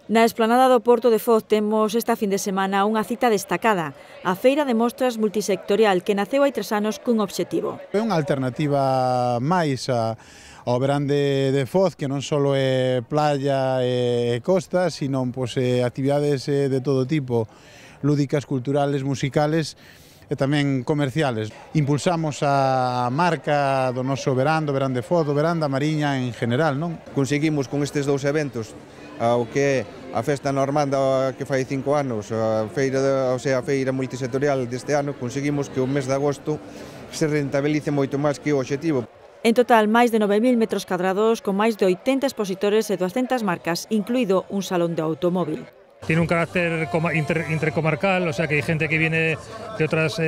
Na explanada do Porto de Foz temos esta fin de semana unha cita destacada, a Feira de Mostras Multisectorial que naceu hai 3 anos cun obxectivo. É unha alternativa máis ao verán de Foz, que non só é playa e costa, sino actividades de todo tipo, lúdicas, culturales, musicales e tamén comerciales. Impulsamos a marca do noso verán, do verán de Foz, do verán da Mariña en general, non? Conseguimos con estes dous eventos ao que é a Festa Normanda que fai 5 anos, a Feira Multisectorial deste ano, conseguimos que o mes de agosto se rentabilice moito máis que o obxectivo. En total, máis de 9.000 metros cadrados, con máis de 80 expositores e 200 marcas, incluído un salón de automóvil. Tiene un carácter intercomarcal, o sea que hay gente que viene de otras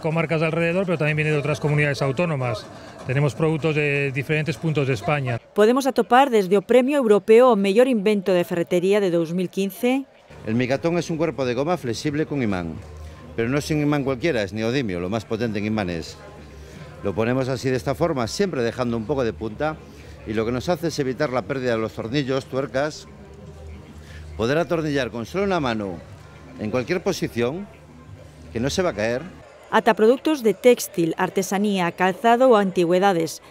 comarcas de alrededor, pero también viene de otras comunidades autónomas. Tenemos productos de diferentes puntos de España. Podemos atopar desde o Premio Europeo ao mellor invento de ferretería de 2015. El micatón es un cuerpo de goma flexible con imán, pero no es un imán cualquiera, es neodimio, lo más potente en imanes. Lo ponemos así de esta forma, siempre dejando un poco de punta, y lo que nos hace es evitar la pérdida de los tornillos, tuercas, poder atornillar con solo una mano en cualquier posición, que no se va a caer. Ata produtos de téxtil, artesanía, calzado ou antigüedades.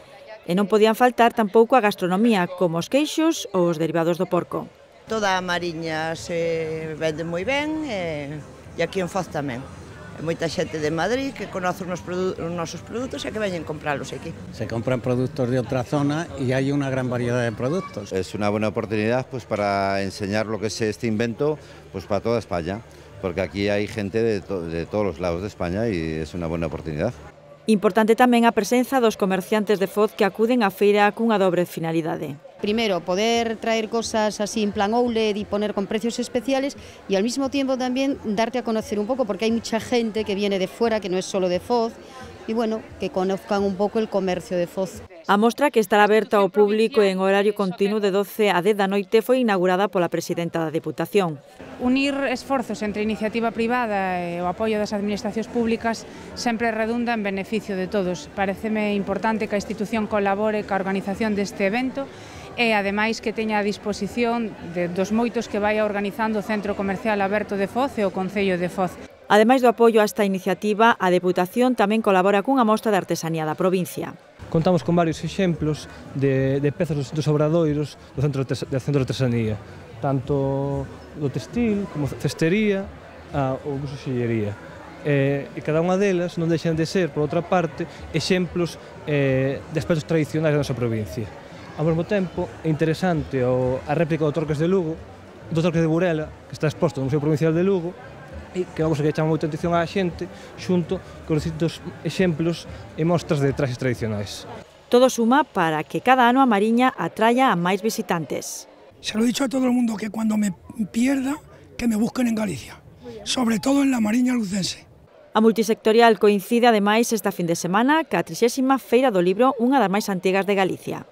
E non podían faltar tampouco a gastronomía, como os queixos ou os derivados do porco. Toda a Mariña se vende moi ben e aquí en Foz tamén. Moita xente de Madrid que conoce os nosos produtos e que veñen compralos aquí. Se compran productos de otra zona y hay una gran variedad de productos. Es una buena oportunidad para enseñar lo que es este invento para toda España, porque aquí hay gente de todos los lados de España y es una buena oportunidad. Importante tamén a presenza dos comerciantes de Foz que acuden á feira cunha dobre finalidade. Primero, poder traer cosas así en plan outlet y poner con precios especiales y al mismo tiempo también darte a conocer un poco, porque hay mucha gente que viene de fuera, que no es solo de Foz, y bueno, que conozcan un poco el comercio de Foz. A mostra, que estará aberta ao público en horario continuo de 12 a 10 da noite, foi inaugurada pola presidenta da Deputación. Unir esforzos entre a iniciativa privada e o apoio das administracións públicas sempre redunda en beneficio de todos. Pareceme importante que a institución colabore ca organización deste evento e, ademais, que teña a disposición dos moitos que vai organizando o Centro Comercial Aberto de Foz e o Concello de Foz. Ademais do apoio a esta iniciativa, a Deputación tamén colabora cunha mostra de artesanía da provincia. Contamos con varios exemplos de pezas dos obradoiros do Centro de Artesanía, tanto do textil como cestería ou buxoxillería. E cada unha delas non deixan de ser, por outra parte, exemplos de aspectos tradicionais da nosa provincia. Ao mesmo tempo, é interesante a réplica do Torques de Lugo, do Torques de Burela, que está exposto no Museo Provincial de Lugo, e que é unha cousa que chama moita atención á xente, xunto con distintos exemplos e mostras de traxes tradicionais. Todo suma para que cada ano a Mariña atraia a máis visitantes. Se lo he dicho a todo el mundo que cuando me pierda, que me busquen en Galicia, sobre todo en la Mariña lucense. A multisectorial coincide ademais esta fin de semana ca 30ª Feira do Libro, unha das máis antigas de Galicia.